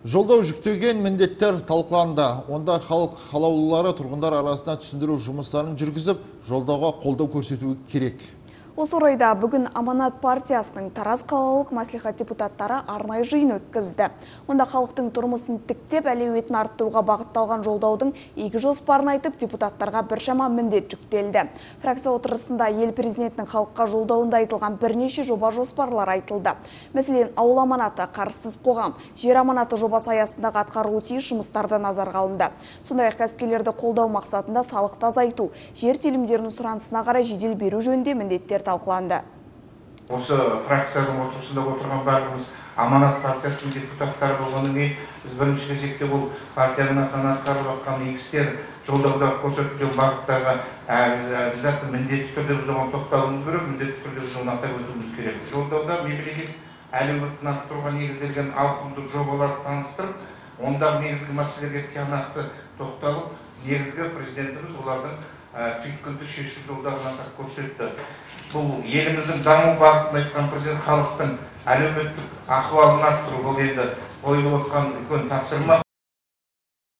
Жолдау жүктеген міндеттер талқыланды. Онда халық қалаулылары тұрғындар арасында түсіндіру жұмыстарын жүргізіп, жолдауға қолдау көрсетуі керек. Осы орайда бүгін Аманат партиясының Тараз қалалық мәслихат депутаттары арнайы жиын өткізді. Онда халықтың тұрмысын тіктеп, әлеуетін арттыруға бағытталған жолдаудың игі жоспарын айтып, депутаттарға біршама міндет жүктелді. Фракция отырысында ел президентінің халыққа жолдауында айтылған бірнеше жоба жоспарлар айтылды. Мәселен, ауыл аманаты, қарызсыз қоғам, жер аманаты жобасы аясындағы атқарылуы тиіс жұмыстарды назарға алынды. Сондай-ақ кәсіпкерлерді қолдау мақсатында салықты азайту, жер телімдерінің сұранысына қарай жедел беру жөнінде міндеттер талқыланды. Осы фракцияның отырысында отырған барлығымыз Аманат партиясының депутаттары болғаннан кейін біз бірінші кезекте бұл партияның атынан атқарылып жатқан игі істер жолдауда көрсетілген бағыттарға обязательно міндетті түрде біз оған тоқталуымыз керек, міндетті түрде біз оны атап өтуіміз керек. Жолдауда мемлекет әлеуетін арттыруға негізделген ауқымды жобаларды таныстырып, онда негізгі мәселелерге тиянақты тоқталып, негізгі президентіміз олардың түйткілді шешу жолдарын атап көрсетті. Бұл еліміздің даму бағытын айтқан президент халықтың әлеуметтік ахуалын арттыру, бұл енді қойылып отқан үлкен тапсырма.